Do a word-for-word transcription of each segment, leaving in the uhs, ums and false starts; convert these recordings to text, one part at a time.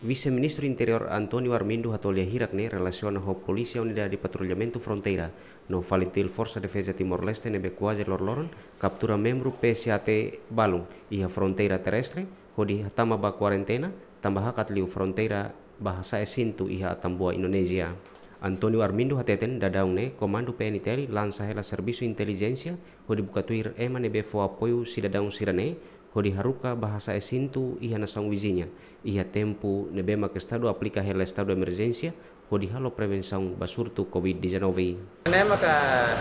Vise-Ministru Interiór António Armindo hato'o lia hirak ne'e relasiona ho Polísia Unidade Patrullamentu Fronteira no FALINTIL, Forsa Defeza Timor-Leste, ne'ebé kuaze loroloron kaptura membru P S A T balun iha fronteira terrestre, hodi hatama ba kuarentena, tanba hakat liu fronteira ba hasa'e sintu iha Atambua, Indonézia. António Armindo hateten, daudaun ne'e Komandu P N T L lansa hela servisu intelijénsia hodi buka tuir ema ne'ebé fó apoiu sidadaun sira-ne'e, hodi haruka ba hasa'e sintu iha nasaun viziña, iha tempu ne'ebé maka Estadu aplika hela estadu emerjénsia, hodi halo prevensaun ba surtu covid dezanove. Ne'e maka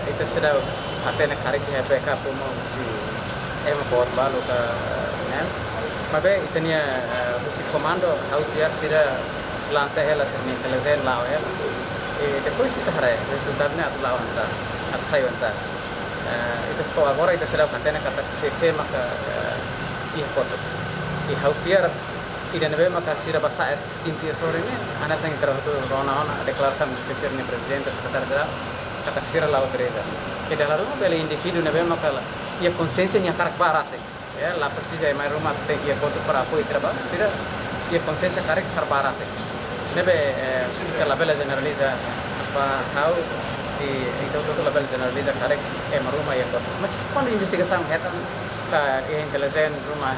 ita seidauk hatene karik iha backup uma husi ema boot balu ka ne'e. Maibé ita-nia, eh, husi komandu, ha'u fiar sira lansa hela sira-nia intelijénsia la'o hela. E depois ita haree rezultadu ne'e atu la'o oinsá, atu sai oinsá. Eh, ita, to'o agora ita seidauk hatene katak sé-sé maka, eh, iha kotuk. I ha'u fiar ida ne'ebé maka sira ba hasa'e sintu iha sorin ne'e, hanesan ita rona ona deklarasaun husi sira-nia Prezidente, Sekretáriu Jerál, katak sira la'o teresa. Ida la ruma bele indivíduu ne'ebé maka la, iha konxiénsia nia hakarak ba rasik. Ya, la presiza ema ruma tenke iha kotuk para apoiu sira ba, sira iha konxiénsia karik hakarak ba rasik. Ne'ebé, eh, ita labele jeneraliza ba ha'u, i ita hotu-hotu labele jeneraliza karik ema ruma iha kotuk. Mas kuandu investigasaun hetan, ka iha intelijénsia ruma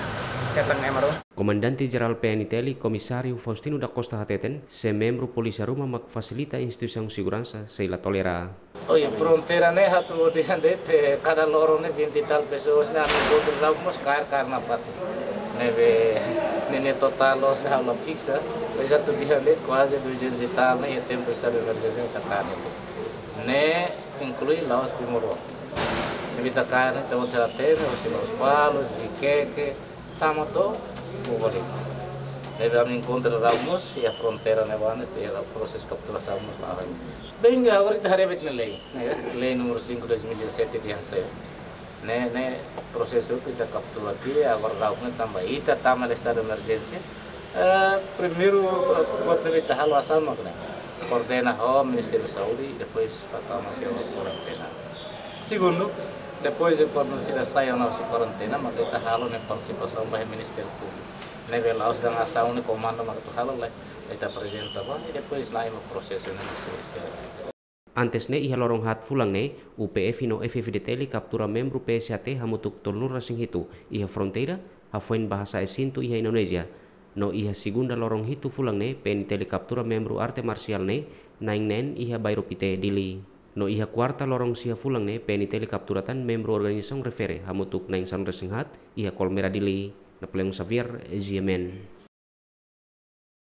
hetan ema ruma. Komandante Jerál P N T L, Komisáriu Faustino da Costa hateten, se membru polísia ruma mak fasilita instituisaun seguransa sei la tolera. Oi, fronteira ne'e atu dehan de'it, kada loron ne'e vinte e tal pessoas ne'e ami enkontru daudaun mós kaer, kaer nafatin. Ne'ebé, ne'e, ne'e totál loos ne'e ha'u la fiksa, mas atu dehan de'it kuaze duzentos e tal ne'e iha tempu estadu emerjénsia ita kaer. Ne'e inklui la'ós timoroan. Ne'ebé ita kaer ne'e ita-boot sira hatene, husi Lospalos, Viqueque, tama to'o Boboli. Ne'ebé ami enkontru daudaun mós iha fronteira ne'ebá ne'e, sei iha prosesu kapturasaun mós la'o. Bem, agora ita haree de'it ne'e lei, ne'e, lei número cinco dois mil e dezassete dehan sai. Ne'e, ne'e prosesu ita kaptura tiha, agora daudaun ne'e tanba ita tama iha estadu emerjénsia. Eh, primeiru, eh, buat ne'ebé ita halo hanesan mak ne'e. Koordena ho Ministériu Saúde, depois atu tama sira ba kuarentena. Segundu, depois de kuandu sira sai ona husi kuarentena, maka ita halo ne'e partisipasaun ba Ministériu Públiku. Ne'ebé la'ós dehan asaun ne'e komandu mak atu halo, lae, ita aprezenta ba, i depois la'o mak prosesu ne'e husi, husi. Antes ne'e iha loron haat fulan ne'e, U P F no F F D T L kaptura membru P S A T hamutuk tolunulu-resin-hitu iha fronteira, hafoin ba hasa'e sintu iha Indonézia. No iha segunda loron hitu fulan ne'e, P N T L kaptura membru arte marsiál ne'e, na'in neen iha bairru Pité, Dili. No iha kuarta loron sia fulan ne'e, P N T L kaptura tan membru organizasaun refere hamutuk na'in sanulu-resin-haat iha Colmera, Dili. Napoleão Xavier, G M N.